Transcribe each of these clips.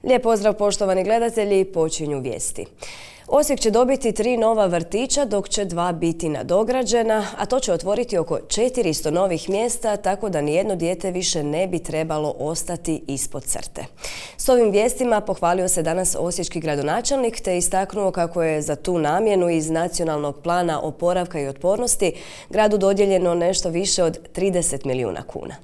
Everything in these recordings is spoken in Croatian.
Lijep pozdrav poštovani gledatelji, počinju vijesti. Osijek će dobiti 3 nova vrtića dok će 2 biti nadograđena, a to će otvoriti oko 400 novih mjesta, tako da nijedno dijete više ne bi trebalo ostati ispod crte. S ovim vijestima pohvalio se danas osječki gradonačelnik te istaknuo kako je za tu namjenu iz Nacionalnog plana oporavka i otpornosti gradu dodijeljeno nešto više od 30 milijuna kuna.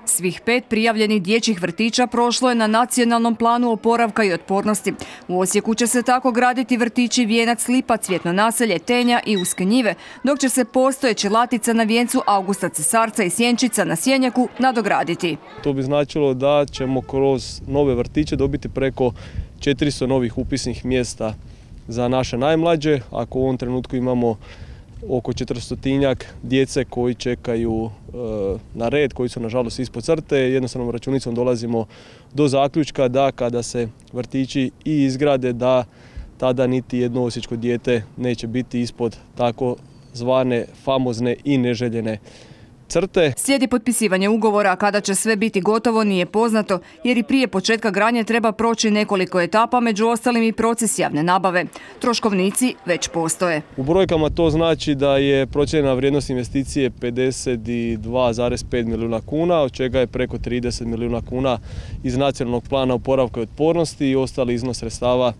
Svih 5 prijavljenih dječjih vrtića prošlo je na Nacionalnom planu oporavka i otpornosti. U Osijeku će se tako graditi vrtići Vijenac, Lipa, Cvjetno naselje, Tenja i Uske njive, dok će se postojeće Latica na Vijencu, Augusta Cesarca i Sjenčica na Sjenjaku nadograditi. To bi značilo da ćemo kroz nove vrtiće dobiti preko 400 novih upisnih mjesta za naše najmlađe. Ako u ovom trenutku imamo oko 400-tinjak djece koji čekaju na red, koji su nažalost ispod crte, jednostavnom računicom dolazimo do zaključka da kada se vrtići i izgrade, da tada niti jedno osječko dijete neće biti ispod tako zvane famozne i neželjene crte. Slijedi potpisivanje ugovora, a kada će sve biti gotovo nije poznato, jer i prije početka gradnje treba proći nekoliko etapa, među ostalim i proces javne nabave. Troškovnici već postoje. U brojkama to znači da je procijenjena vrijednost investicije 52,5 milijuna kuna, od čega je preko 30 milijuna kuna iz Nacionalnog plana oporavka i otpornosti i ostali iznos sredstava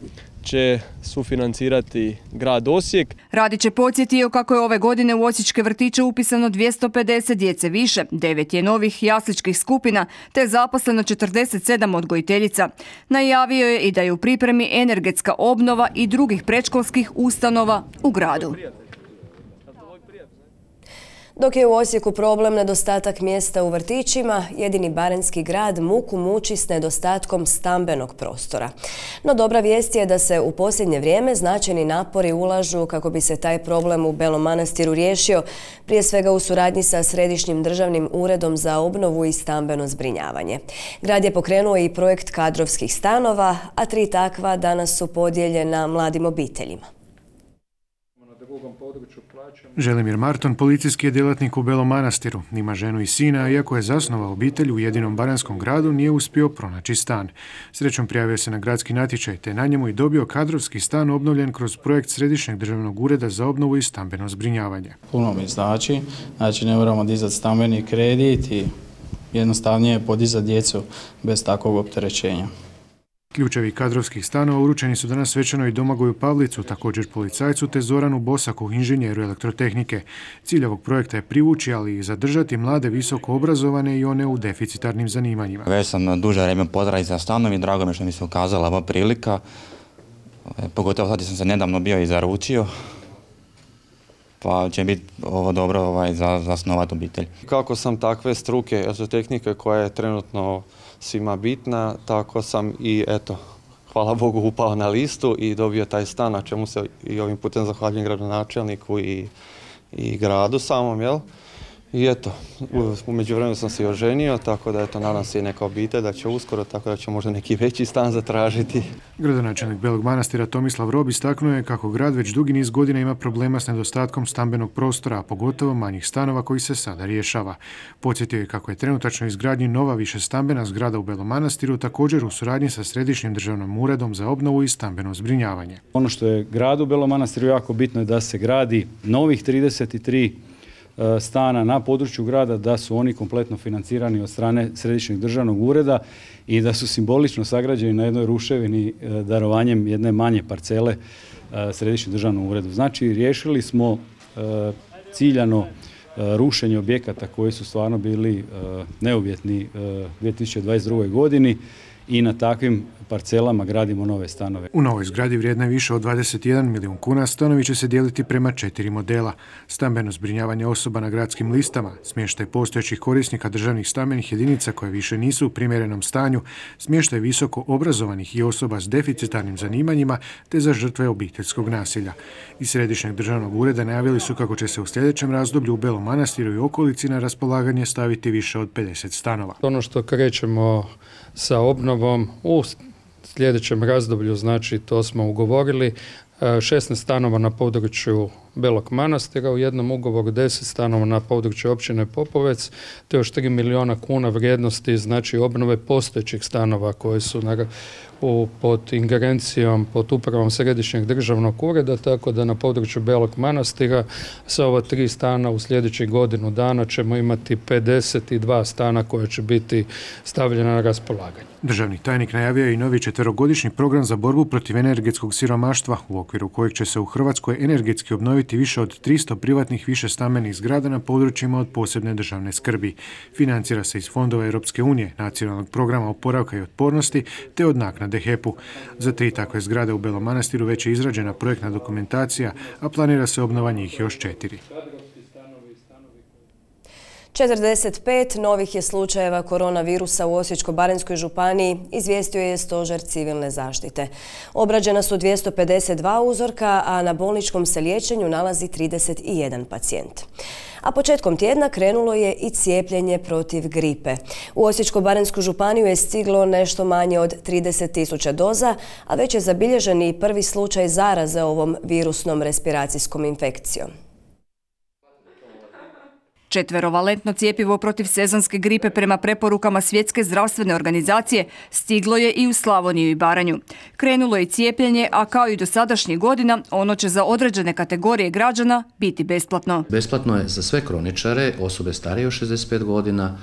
će sufinancirati grad Osijek. Radić je podsjetio kako je ove godine u osječke vrtiće upisano 250 djece više, 9 je novih jasličkih skupina te zaposleno 47 odgojiteljica. Najavio je i da je u pripremi energetska obnova i drugih predškolskih ustanova u gradu. Dok je u Osijeku problem nedostatak mjesta u vrtićima, jedini baranjski grad muku muči s nedostatkom stambenog prostora. No dobra vijest je da se u posljednje vrijeme značajni napori ulažu kako bi se taj problem u Belom Manastiru riješio, prije svega u suradnji sa Središnjim državnim uredom za obnovu i stambeno zbrinjavanje. Grad je pokrenuo i projekt kadrovskih stanova, a 3 takva danas su podijeljena mladim obiteljima. Želimir Marton, policijski je djelatnik u Belom Manastiru. Ima ženu i sina, iako je zasnovao obitelj u jedinom baranskom gradu, nije uspio pronaći stan. Srećom prijavio se na gradski natječaj, te na njemu i dobio kadrovski stan obnovljen kroz projekt Središnjeg državnog ureda za obnovu i stambeno zbrinjavanje. Puno mi znači ne moramo dizati stambeni kredit i jednostavnije je podizati djecu bez takvog opterećenja. Ključevi kadrovskih stanova uručeni su danas svečano i Domagoju Pavlicu, također policajcu, te Zoranu Bosaku, inženjeru elektrotehnike. Cilj ovog projekta je privući, ali i zadržati mlade visoko obrazovane i one u deficitarnim zanimanjima. Već sam duže vrijeme potražio za stanom i drago mi što mi se ukazala ova prilika. Pogotovo sad sam se nedavno bio i zaručio, pa će biti ovo dobro za zasnovati obitelj. Kako sam takve struke, elektrotehnike koja je trenutno svima bitna, tako sam i hvala Bogu upao na listu i dobio taj stan, na čemu se i ovim putem zahvaljujem gradonačelniku i gradu samom, jel? I u međuvremenu sam se i oženio, tako da nadam se i neka obitelj da će uskoro, tako da će možda neki veći stan zatražiti. Gradonačelnik Belog Manastira Tomislav Rob istaknuo je kako grad već dugi niz godina ima problema s nedostatkom stambenog prostora, a pogotovo manjih stanova koji se sada rješava. Podsjetio je kako je trenutačno izgradnji nova višestambena zgrada u Belom Manastiru, također u suradnji sa Središnjim državnim uredom za obnovu i stambeno zbrinjavanje. Ono što je gradu Belom Manastiru jako bitno je da se gradi novih 33 stana na području grada, da su oni kompletno financirani od strane Središnjeg državnog ureda i da su simbolično sagrađeni na jednoj ruševini darovanjem jedne manje parcele Središnjem državnom uredu. Znači, riješili smo ciljano rušenje objekata koji su stvarno bili neuvjetni 2022. godini i na takvim parcelama gradimo nove stanove. U novoj zgradi vrijedna je više od 21 milijun kuna, stanovi će se dijeliti prema 4 modela. Stambeno zbrinjavanje osoba na gradskim listama, smještaj postojećih korisnika državnih stambenih jedinica koje više nisu u primjerenom stanju, smještaj visoko obrazovanih i osoba s deficitarnim zanimanjima te za žrtve obiteljskog nasilja. Iz Središnjeg državnog ureda najavili su kako će se u sljedećem razdoblju u Belom Manastiru i okolici na raspolaganje staviti više od 50 stanova. Ono što krećemo sa obnovom u sljedećem razdoblju, znači to smo ugovorili, 16 stanova na području Belog Manastira, u jednom ugovoru 10 stanova na području općine Popovec, te još 3 milijuna kuna vrijednosti, znači obnove postojećih stanova koji su pod ingerencijom, pod upravom Središnjeg državnog ureda, tako da na području Belog Manastira sa ova 3 stana u sljedećih godinu dana ćemo imati 52 stana koje će biti stavljena na raspolaganje. Državni tajnik najavio je i novi 4-godišnji program za borbu protiv energetskog siromaštva, u okviru kojeg će se u Hrvatskoj energetski obnoviti više od 300 privatnih višestambenih zgrada na područjima od posebne državne skrbi. Financira se iz fondova Europske unije, Nacionalnog programa oporavka i otpornosti, te od naknade HEP-u. Za 3 takve zgrade u Belom Manastiru već je izrađena projektna dokumentacija, a planira se obnova njih još 4. 45 novih je slučajeva koronavirusa u Osječko-baranjskoj županiji, izvijestio je Stožer civilne zaštite. Obrađena su 252 uzorka, a na bolničkom se liječenju nalazi 31 pacijent. A početkom tjedna krenulo je i cijepljenje protiv gripe. U Osječko-baranjsku županiju je stiglo nešto manje od 30.000 doza, a već je zabilježen i prvi slučaj zaraze ovom virusnom respiracijskom infekcijom. 4-valentno cjepivo protiv sezonske gripe prema preporukama Svjetske zdravstvene organizacije stiglo je i u Slavoniju i Baranju. Krenulo je cijepljenje, a kao i do sadašnjih godina, ono će za određene kategorije građana biti besplatno. Besplatno je za sve kroničare, osobe starije od 65 godina,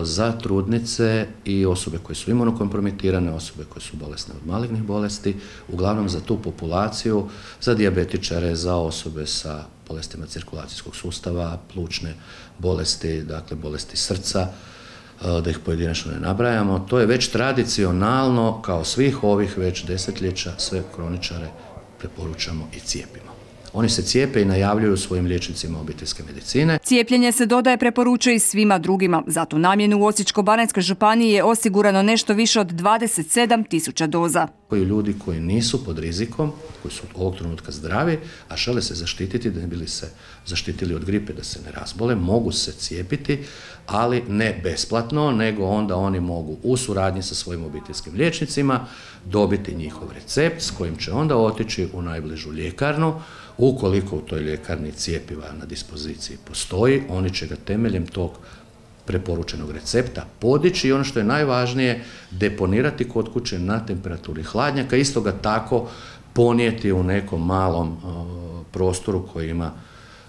za trudnice i osobe koje su imunokompromitirane, osobe koje su bolesne od malignih bolesti, uglavnom za tu populaciju, za dijabetičare, za osobe sa bolestima cirkulacijskog sustava, plućne bolesti, dakle bolesti srca, da ih pojedinačno ne nabrajamo. To je već tradicionalno, kao svih ovih već desetljeća, sve kroničare preporučamo i cijepimo. Oni se cijepe i najavljuju svojim liječnicima obiteljske medicine. Cijepljenje se dodaje preporučuje i svima drugima. Za tu namjenu u Osječko-baranjskoj županiji je osigurano nešto više od 27.000 doza. Ljudi koji nisu pod rizikom, koji su ovog trenutka zdravi, a žele se zaštititi da ne bili se zaštitili od gripe, da se ne razbole, mogu se cijepiti, ali ne besplatno, nego onda oni mogu u suradnji sa svojim obiteljskim liječnicima dobiti njihov recept s kojim će onda otići u najbližu ljekarnu. Ukoliko u toj ljekarni cjepiva na dispoziciji postoji, oni će ga temeljem tog preporučenog recepta podići i ono što je najvažnije, deponirati kod kuće na temperaturi hladnjaka, isto ga tako ponijeti u nekom malom prostoru koji ima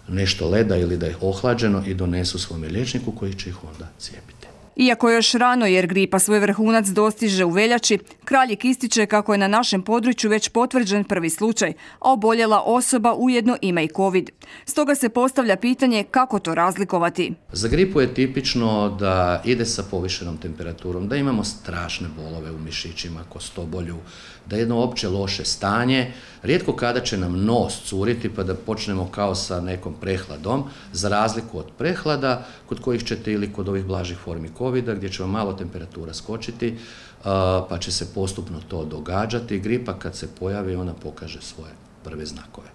nešto leda ili da je ohlađeno i donesu svome liječniku koji će ih onda cijepiti. Iako je još rano jer gripa svoj vrhunac dostiže u veljači, Kraljik ističe kako je na našem području već potvrđen prvi slučaj, a oboljela osoba ujedno ima i COVID. Stoga se postavlja pitanje kako to razlikovati. Za gripu je tipično da ide sa povišenom temperaturom, da imamo strašne bolove u mišićima, kostobolju, da je jedno opće loše stanje. Rijetko kada će nam nos curiti pa da počnemo kao sa nekom prehladom, za razliku od prehlada kod kojih ćete ili kod ovih blažih formi COVID-a gdje će vam malo temperatura skočiti pa će se postupno to događati. Gripa kad se pojavi ona pokaže svoje prve znakove.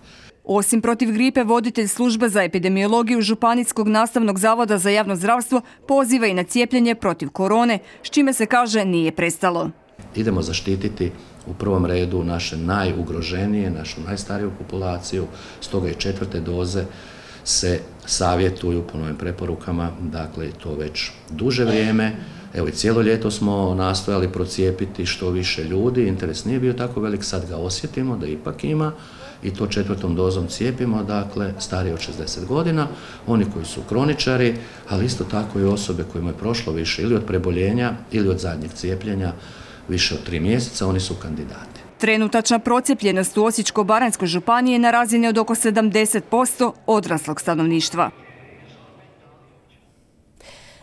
Osim protiv gripe, voditelj službe za epidemiologiju Županijskog nastavnog zavoda za javno zdravstvo poziva i na cijepljenje protiv korone, s čime se kaže nije prestalo. Idemo zaštititi u prvom redu naše najugroženije, našu najstariju populaciju, stoga i 4. doze se savjetuju po novim preporukama, dakle to već duže vrijeme. Evo i cijelo ljeto smo nastojali procijepiti što više ljudi, interes nije bio tako velik, sad ga osjetimo da ipak ima i to 4. dozom cijepimo, dakle stariji od 60 godina, oni koji su kroničari, ali isto tako i osobe kojima je prošlo više ili od preboljenja ili od zadnjeg cijepljenja više od 3 mjeseca, oni su kandidati. Trenutačna procijepljenost u Osječko-baranjskoj županiji je na razini od oko 70% odraslog stanovništva.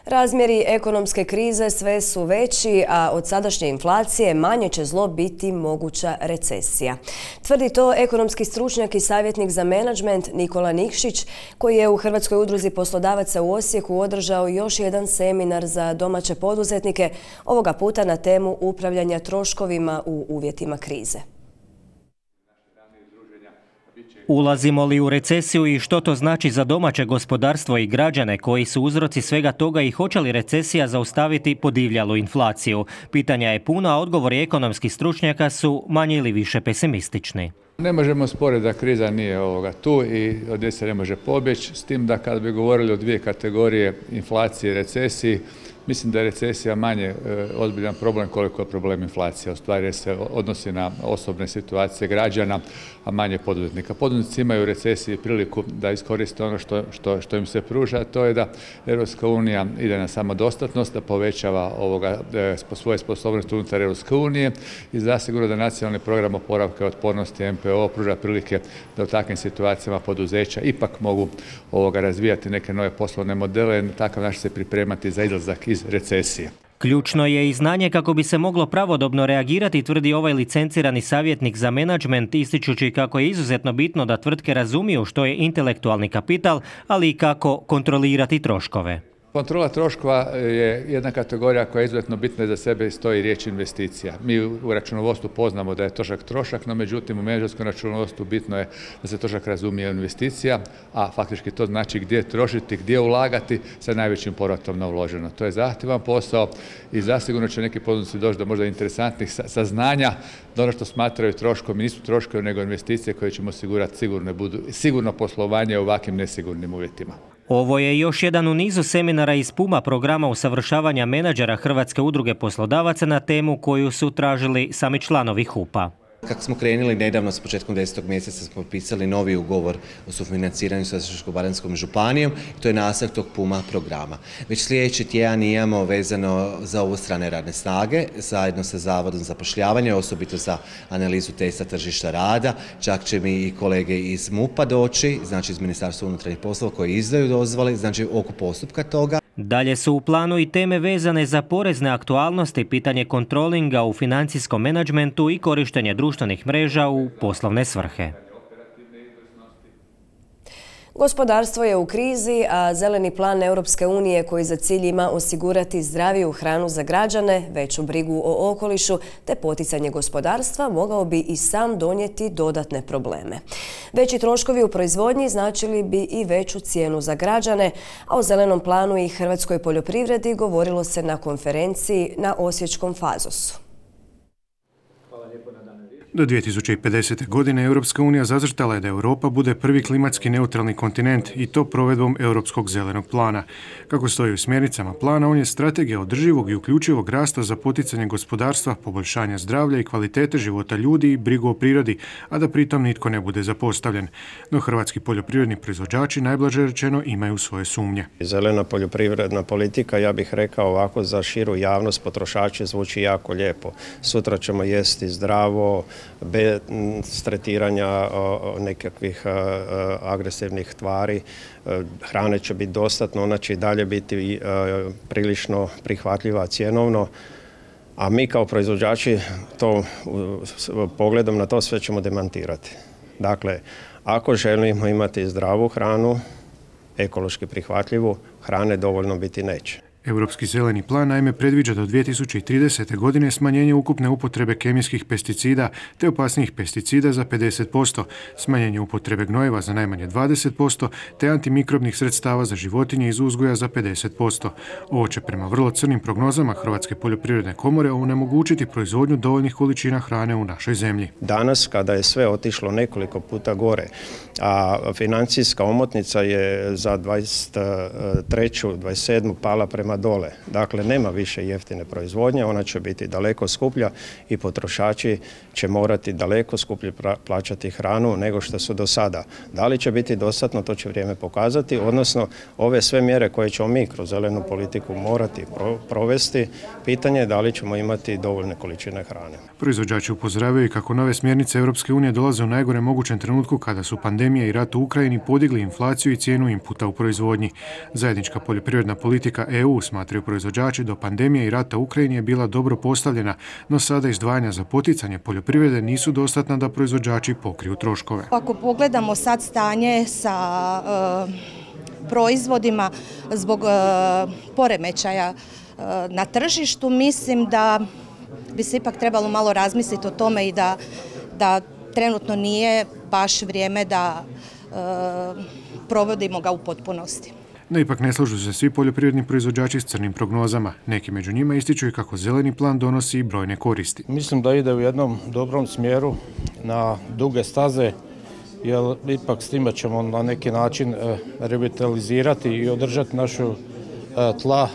Razmjeri ekonomske krize sve su veći, a od sadašnje inflacije manje će zlo biti moguća recesija. Tvrdi to ekonomski stručnjak i savjetnik za menadžment Nikola Nikšić, koji je u Hrvatskoj udruzi poslodavaca u Osijeku održao još jedan seminar za domaće poduzetnike, ovoga puta na temu upravljanja troškovima u uvjetima krize. Ulazimo li u recesiju i što to znači za domaće gospodarstvo i građane, koji su uzroci svega toga i hoće li recesija zaustaviti podivljalu inflaciju? Pitanja je puno, a odgovori ekonomskih stručnjaka su manje ili više pesimistični. Ne možemo sporiti da kriza nije tu i od nje se ne može pobjeći, s tim da kad bi govorili o dvije kategorije, inflacije i recesiji, mislim da je recesija manje ozbiljan problem koliko je problem inflacija. U stvari se odnosi na osobne situacije građana, a manje poduzetnika. Poduzetnici imaju u recesiji priliku da iskoriste ono što im se pruža, a to je da Europska unija ide na samodostatnost, da povećava svoje sposobnosti unutar Europske unije i zasigurno da nacionalni program oporavka i otpornosti MPO pruža prilike da u takvim situacijama poduzeća ipak mogu razvijati neke nove poslovne modele, na takav način se pripremati za izlazak iz recesije. Ključno je i znanje kako bi se moglo pravodobno reagirati, tvrdi ovaj licencirani savjetnik za menadžment, ističući kako je izuzetno bitno da tvrtke razumiju što je intelektualni kapital, ali i kako kontrolirati troškove. Kontrola troškova je jedna kategorija koja je izuzetno bitna, za sebe stoji riječ investicija. Mi u računovodstvu poznamo da je trošak, no međutim u menadžerskom računovodstvu bitno je da se trošak razumije investicija, a faktički to znači gdje trošiti, gdje ulagati sa najvećim povratom na uloženo. To je zahtjevan posao i zasigurno će neki poduzetnici doći do možda interesantnih saznanja da ono što smatraju troškom nisu troškovi nego investicije koje ćemo osigurati sigurno poslovanje u ovakvim nesigurnim uvjetima. Ovo je još jedan u nizu seminara iz PUMA, programa usavršavanja menadžera Hrvatske udruge poslodavaca, na temu koju su tražili sami članovi HUP-a. Kako smo krenuli nedavno, s početkom 10. mjeseca smo potpisali novi ugovor o sufinanciranju sa Osječko-baranjskom županijom i to je nastavak tog PUMA programa. Već sljedeći tjedan imamo vezano za ovu strane radne snage, zajedno sa Zavodom za zapošljavanje, osobito za analizu testa tržišta rada. Čak će mi i kolege iz MUP-a doći, znači iz Ministarstva unutarnjih poslova koji izdaju dozvole, znači oko postupka toga. Dalje su u planu i teme vezane za porezne aktualnosti, pitanje kontrolinga u financijskom menadžmentu i korištenje društvenih mreža u poslovne svrhe. Gospodarstvo je u krizi, a zeleni plan Europske unije koji za cilj ima osigurati zdraviju hranu za građane, veću brigu o okolišu te poticanje gospodarstva mogao bi i sam donijeti dodatne probleme. Veći troškovi u proizvodnji značili bi i veću cijenu za građane, a o zelenom planu i hrvatskoj poljoprivredi govorilo se na konferenciji na Osječkom Fazosu. Do 2050. godine Europska unija zacrtala je da Europa bude prvi klimatski neutralni kontinent i to provedbom Europskog zelenog plana. Kako stoji u smjernicama plana, on je strategija održivog i uključivog rasta za poticanje gospodarstva, poboljšanja zdravlja i kvalitete života ljudi i brigu o prirodi, a da pritom nitko ne bude zapostavljen. No hrvatski poljoprivredni proizvođači, najblaže rečeno, imaju svoje sumnje. Zelena poljoprivredna politika, ja bih rekao ovako, za širu javnost, potrošače zvuči jako lijepo. Sutra ćemo jesti zdravo, bez tretiranja nekakvih agresivnih tvari. Hrane će biti dostatno, ona će i dalje biti prilično prihvatljiva cjenovno, a mi kao proizvođači to pogledom na to sve ćemo demantirati. Dakle, ako želimo imati zdravu hranu, ekološki prihvatljivu, hrane dovoljno biti neće. Europski zeleni plan naime predviđa do 2030. godine smanjenje ukupne upotrebe kemijskih pesticida te opasnijih pesticida za 50%, smanjenje upotrebe gnojiva za najmanje 20% te antimikrobnih sredstava za životinje iz uzgoja za 50%. Ovo će prema vrlo crnim prognozama Hrvatske poljoprivredne komore onemogućiti proizvodnju dovoljnih količina hrane u našoj zemlji. Danas, kada je sve otišlo nekoliko puta gore, a financijska omotnica je za 23. 27. pala prema dole. Dakle, nema više jeftine proizvodnje, ona će biti daleko skuplja i potrošači će morati daleko skuplje plaćati hranu nego što su do sada. Da li će biti dostatno, to će vrijeme pokazati, odnosno ove sve mjere koje ćemo mi kroz zelenu politiku morati provesti, pitanje je da li ćemo imati dovoljne količine hrane. Proizvođači upozoravaju kako nove smjernice Europske unije dolaze u najgorem mogućem trenutku kada su pandemija i rat u Ukrajini podigli inflaciju i cijenu inputa u proizvodnji. Zajednička poljoprivredna politika EU, smatraju proizvođači, do pandemije i rata u Ukrajini je bila dobro postavljena, no sada izdvajanja za poticanje poljoprivrede nisu dostatna da proizvođači pokriju troškove. Ako pogledamo sad stanje sa proizvodima zbog poremećaja na tržištu, mislim da bi se ipak trebalo malo razmisliti o tome i da trenutno nije baš vrijeme da provodimo ga u potpunosti. No ipak ne slažu se svi poljoprivredni proizvođači s crnim prognozama. Neki među njima ističu i kako zeleni plan donosi i brojne koristi. Mislim da ide u jednom dobrom smjeru na duge staze, jer ipak s time ćemo na neki način revitalizirati i održati našu tla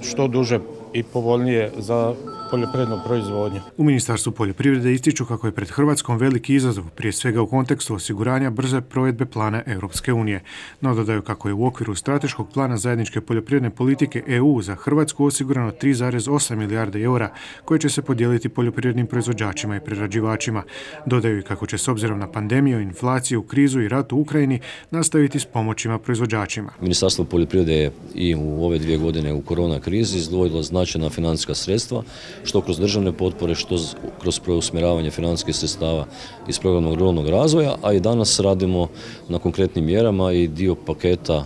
što duže i povoljnije za poljoprivrednu proizvodnju. U Ministarstvu poljoprivrede ističu kako je pred Hrvatskom veliki izazov, prije svega u kontekstu osiguranja brze provedbe plana Europske unije. No dodaju kako je u okviru strateškog plana zajedničke poljoprivredne politike EU za Hrvatsku osigurano 3,8 milijarde eura koje će se podijeliti poljoprivrednim proizvođačima i prerađivačima. Dodaju i kako će s obzirom na pandemiju, inflaciju, krizu i rat u Ukrajini nastaviti s pomoćima proizvođačima. Ministarstvo poljoprivrede je i u ove 2 godine u korona krizi izdvojilo značajna financijska sredstva, što kroz državne potpore, što kroz preusmjeravanje financijskih sredstava iz programa ruralnog razvoja, a i danas radimo na konkretnim mjerama i dio paketa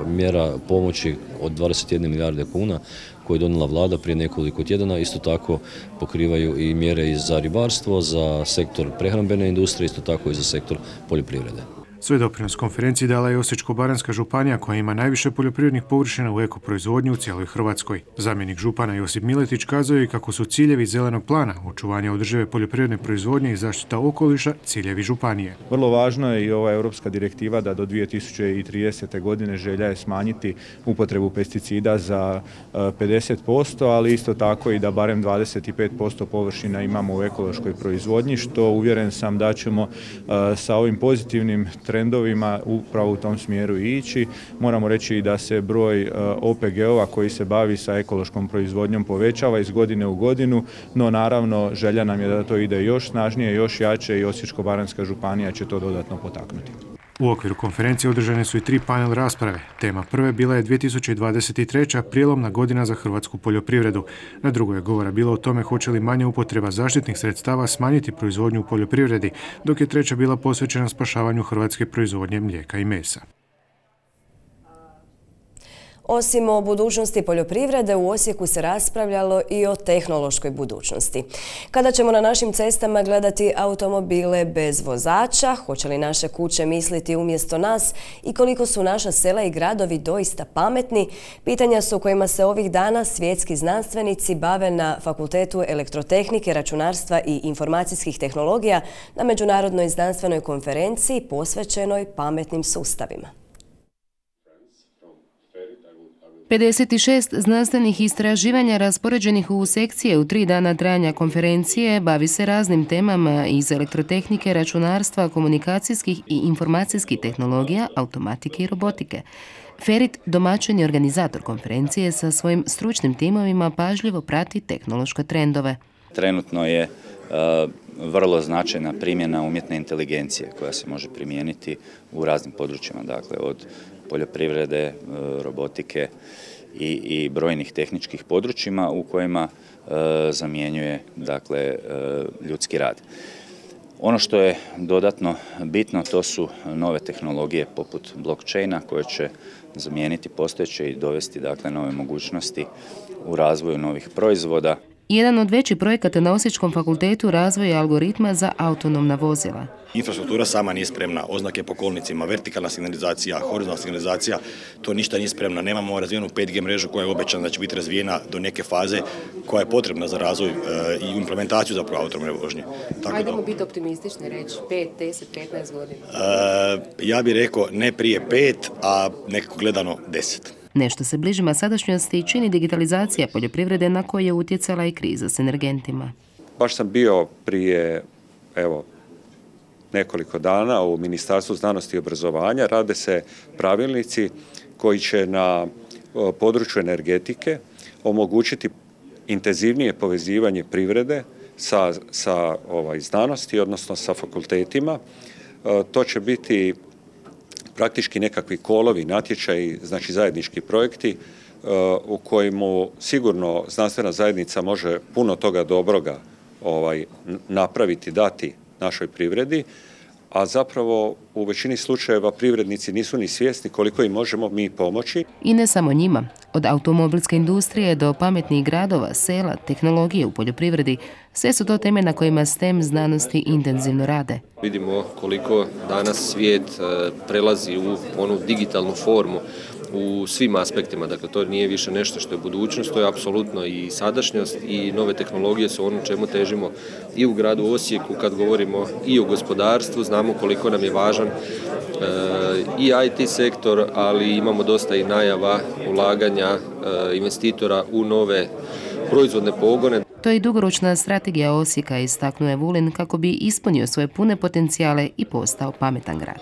mjera pomoći od 21 milijarde kuna koje je donijela vlada prije nekoliko tjedana. Isto tako pokrivaju i mjere i za ribarstvo, za sektor prehrambene industrije, isto tako i za sektor poljoprivrede. Svoj doprinos konferenciji dala je Osječko-baranjska županija koja ima najviše poljoprivrednih površina u ekoproizvodnju u cijeloj Hrvatskoj. Zamjenik župana Josip Miletić kazuje i kako su ciljevi zelenog plana, očuvanje održive poljoprivredne proizvodnje i zaštita okoliša ciljevi županije. Vrlo važno je i ova europska direktiva da do 2030. godine želja je smanjiti upotrebu pesticida za 50%, ali isto tako i da barem 25% površina imamo u ekološkoj proizvodnji, što uvjeren sam da ćemo sa ovim pozitivnim trendovima upravo u tom smjeru ići. Moramo reći i da se broj OPG-ova koji se bavi sa ekološkom proizvodnjom povećava iz godine u godinu, no naravno želja nam je da to ide još snažnije, još jače i Osječko-baranjska županija će to dodatno potaknuti. U okviru konferencije održane su i 3 panel rasprave. Tema prve bila je 2023. prijelomna godina za hrvatsku poljoprivredu. Na drugoj je govora bilo o tome hoće li manja upotreba zaštitnih sredstava smanjiti proizvodnju u poljoprivredi, dok je treća bila posvećena spašavanju hrvatske proizvodnje mlijeka i mesa. Osim o budućnosti poljoprivrede, u Osijeku se raspravljalo i o tehnološkoj budućnosti. Kada ćemo na našim cestama gledati automobile bez vozača, hoće li naše kuće misliti umjesto nas i koliko su naša sela i gradovi doista pametni, pitanja su kojima se ovih dana svjetski znanstvenici bave na Fakultetu elektrotehnike, računarstva i informacijskih tehnologija na Međunarodnoj znanstvenoj konferenciji posvećenoj pametnim sustavima. 56 znanstvenih istraživanja raspoređenih u sekcije u 3 dana trajanja konferencije bavi se raznim temama iz elektrotehnike, računarstva, komunikacijskih i informacijskih tehnologija, automatike i robotike. Ferit, domaćin i organizator konferencije, sa svojim stručnim timovima pažljivo prati tehnološke trendove. Trenutno je vrlo značajna primjena umjetne inteligencije koja se može primijeniti u raznim područjima, dakle od poljoprivrede, robotike i brojnih tehničkih područjima u kojima zamjenjuje dakle ljudski rad. Ono što je dodatno bitno, to su nove tehnologije poput blockchaina koje će zamijeniti postojeće i dovesti dakle nove mogućnosti u razvoju novih proizvoda. Jedan od većih projekata na Osječkom fakultetu razvoj algoritma za autonomna vozila. Infrastruktura sama nije spremna, oznake po kolnicima, vertikalna signalizacija, horizontalna signalizacija, to ništa nije spremno. Nemamo razvijenu 5G mrežu koja je obećana da će biti razvijena do neke faze koja je potrebna za razvoj i implementaciju zapravo autonomne vožnje. Ajdemo biti optimistični, reći 5, 10, 15 godina. Ja bih rekao ne prije 5, a nekako gledano 10. Nešto se bližima sadašnjosti čini digitalizacija poljoprivrede na koje je utjecala i kriza s energentima. Baš sam bio prije nekoliko dana u Ministarstvu znanosti i obrazovanja. Rade se pravilnici koji će na području energetike omogućiti intenzivnije povezivanje privrede sa znanosti, odnosno sa fakultetima. To će biti praktički nekakvi kolovi, natječaji, znači zajednički projekti u kojemu sigurno znanstvena zajednica može puno toga dobroga napraviti, dati našoj privredi, a zapravo u većini slučajeva privrednici nisu ni svjesni koliko im možemo mi pomoći. I ne samo njima. Od automobilske industrije do pametnih gradova, sela, tehnologije u poljoprivredi, sve su to teme na kojima STEM znanosti intenzivno rade. Vidimo koliko danas svijet prelazi u onu digitalnu formu u svim aspektima. Dakle, to nije više nešto što je budućnost, to je apsolutno i sadašnjost i nove tehnologije su ono čemu težimo i u gradu Osijeku kad govorimo i o gospodarstvu. Znamo koliko nam je važan i IT sektor, ali imamo dosta i najava ulaganja investitora u nove proizvodne pogone. To je i dugoročna strategija Osijeka, istaknuo je Vulin, kako bi ispunio svoje pune potencijale i postao pametan grad.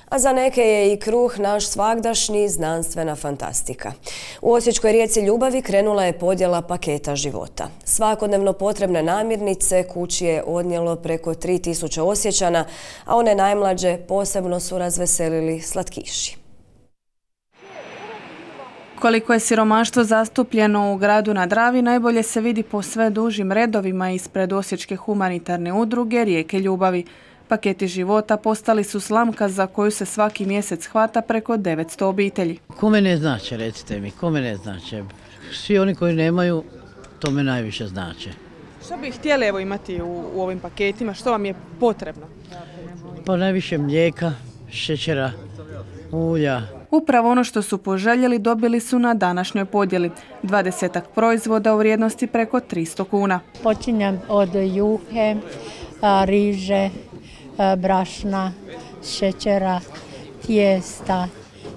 A za neke je i kruh naš svagdašnji znanstvena fantastika. U osječkoj rijeci Ljubavi krenula je podjela paketa života. Svakodnevno potrebne namirnice kući je odnijelo preko 3000 Osječana, a one najmlađe posebno su razveselili slatkiši. Koliko je siromaštvo zastupljeno u gradu na Dravi najbolje se vidi po sve dužim redovima ispred Osječke humanitarne udruge Rijeke Ljubavi. Paketi života postali su slamka za koju se svaki mjesec hvata preko 900 obitelji. Kome ne znače, recite mi, kome ne znače? Svi oni koji nemaju, to me najviše znače. Što bi htjeli imati u ovim paketima? Što vam je potrebno? Pa najviše mlijeka, šećera, ulja. Upravo ono što su poželjeli dobili su na današnjoj podjeli. 20 proizvoda u vrijednosti preko 300 kuna. Počinjem od juhe, riže, brašna, šećera, tijesta,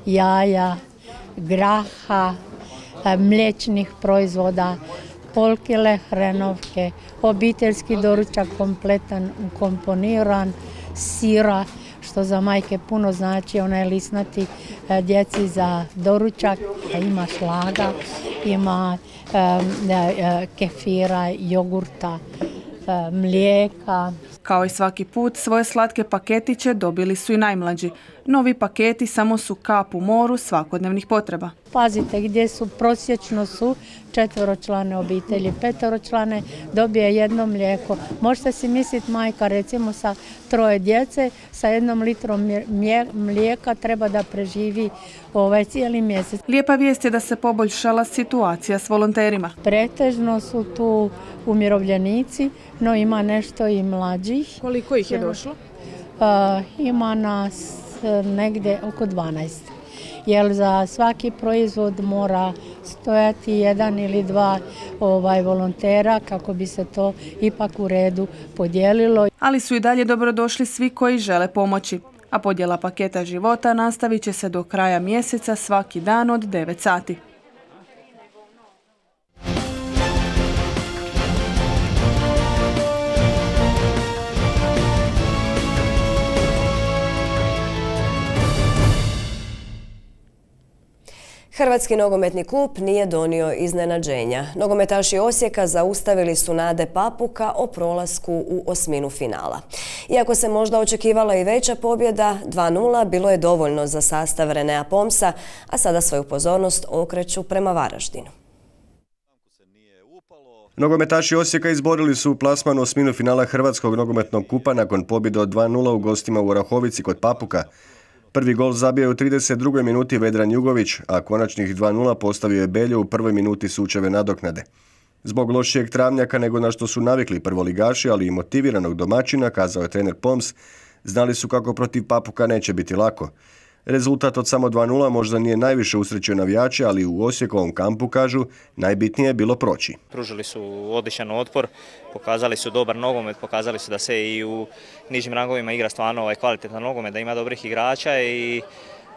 jaja, graha, mliječnih proizvoda, pol kile hrenovke, obiteljski doručak kompletan, ukomponiran, sira, što za majke puno znači, onaj lisnati djeci za doručak, ima šlaga, ima kefira, jogurta, mlijeka. Kao i svaki put, svoje slatke paketiće dobili su i najmlađi. Novi paketi samo su kap u moru svakodnevnih potreba. Pazite gdje su, prosječno su 4-člane obitelji, 5-člane dobije jedno mlijeko. Možete si misliti majka recimo sa 3 djece, sa 1 litrom mlijeka treba da preživi cijeli mjesec. Lijepa vijest je da se poboljšala situacija s volonterima. Pretežno su tu umirovljenici, no ima nešto i mlađih. Koliko ih je došlo? Ima nas negdje oko 12. Jer za svaki proizvod mora stojati 1 ili 2 volontera kako bi se to ipak u redu podijelilo. Ali su i dalje dobrodošli svi koji žele pomoći. A podjela paketa života nastavit će se do kraja mjeseca svaki dan od 9 sati. Hrvatski nogometni klub nije donio iznenađenja. Nogometaši Osijeka zaustavili su nade Papuka o prolasku u osminu finala. Iako se možda očekivala i veća pobjeda, 2:0 bilo je dovoljno za sastav Renea Pomsa, a sada svoju pozornost okreću prema Varaždinu. Nogometaši Osijeka izborili su plasman u osminu finala Hrvatskog nogometnog kupa nakon pobjede od 2:0 u gostima u Orahovici kod Papuka. Prvi gol zabio u 32. minuti Vedran Jugović, a konačnih 2:0 postavio je Beljo u prvoj minuti sučeve nadoknade. Zbog lošijeg travnjaka nego na što su navikli prvoligaši, ali i motiviranog domaćina, kazao je trener Poms, znali su kako protiv Papuka neće biti lako. Rezultat od samo 2:0 možda nije najviše usrećio navijače, ali u Osijekovom kampu, kažu, najbitnije je bilo proći. Pružili su odličan otpor, pokazali su dobar nogomet, pokazali su da se i u nižim rangovima igra stvarno kvalitetan nogomet, da ima dobrih igrača i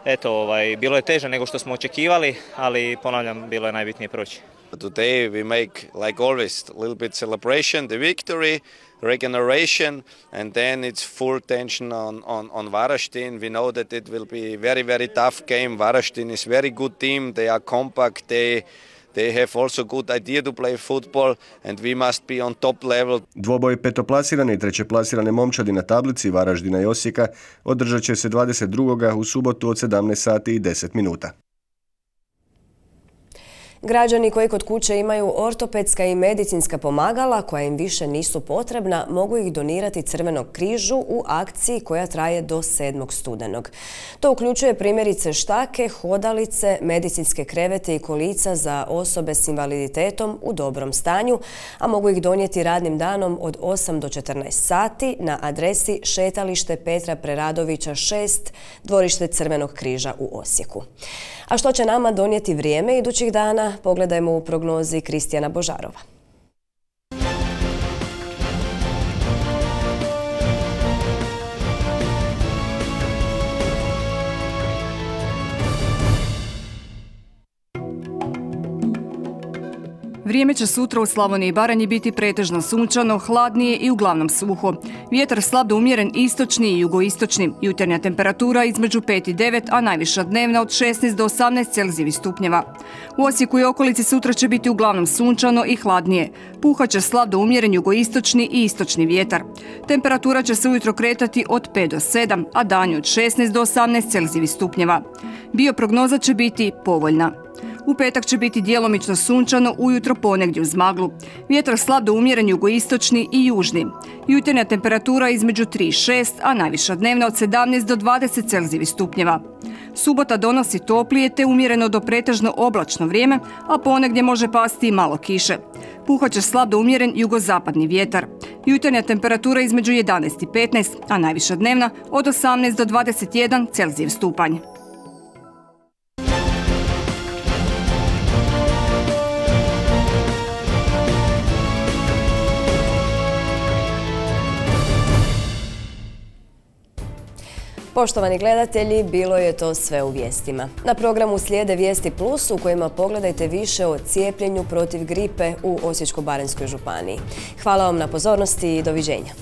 eto, bilo je teže nego što smo očekivali, ali ponavljam, bilo je najbitnije proći. Today we make, like always, a little bit celebration, the victory, regeneration, and then it's full tension on Varaždin. We know that it will be very, very tough game. Varaždin is very good team. They are compact. They have also good idea to play football, and we must be on top level. Dvoboj petoplasirane i trećeplasirane momčadi na tablici Varaždina i Osijeka održat će se 22. u subotu od 17 sati i 10 minuta. Građani koji kod kuće imaju ortopedska i medicinska pomagala koja im više nisu potrebna, mogu ih donirati Crvenog križu u akciji koja traje do 7. studenog. To uključuje primjerice štake, hodalice, medicinske krevete i kolica za osobe s invaliditetom u dobrom stanju, a mogu ih donijeti radnim danom od 8 do 14 sati na adresi Šetalište Petra Preradovića 6, dvorište Crvenog križa u Osijeku. A što će nama donijeti vrijeme idućih dana, pogledajmo u prognozi Kristijana Božarova. Vrijeme će sutra u Slavoniji i Baranji biti pretežno sunčano, hladnije i uglavnom suho. Vjetar slab do umjeren istočni i jugoistočni. Jutarnja temperatura između 5 i 9, a najviša dnevna od 16 do 18 Celzijevih stupnjeva. U Osijeku i okolici sutra će biti uglavnom sunčano i hladnije. Puhat će slab do umjeren jugoistočni i istočni vjetar. Temperatura će se ujutro kretati od 5 do 7, a danju od 16 do 18 Celzijevih stupnjeva. Bioprognoza će biti povoljna. U petak će biti djelomično sunčano, ujutro ponegdje uz maglu. Vjetar slab do umjeren jugoistočni i južni. Jutarnja temperatura između 3 i 6, a najviša dnevna od 17 do 20 Celzijevih stupnjeva. Subota donosi toplije te umjereno do pretežno oblačno vrijeme, a ponegdje može pasti i malo kiše. Puhat će slab do umjeren jugozapadni vjetar. Jutarnja temperatura između 11 i 15, a najviša dnevna od 18 do 21 Celzijev stupanj. Poštovani gledatelji, bilo je to sve u vijestima. Na programu slijede Vijesti Plus u kojima pogledajte više o cijepljenju protiv gripe u Osječko-baranjskoj županiji. Hvala vam na pozornosti i doviđenja.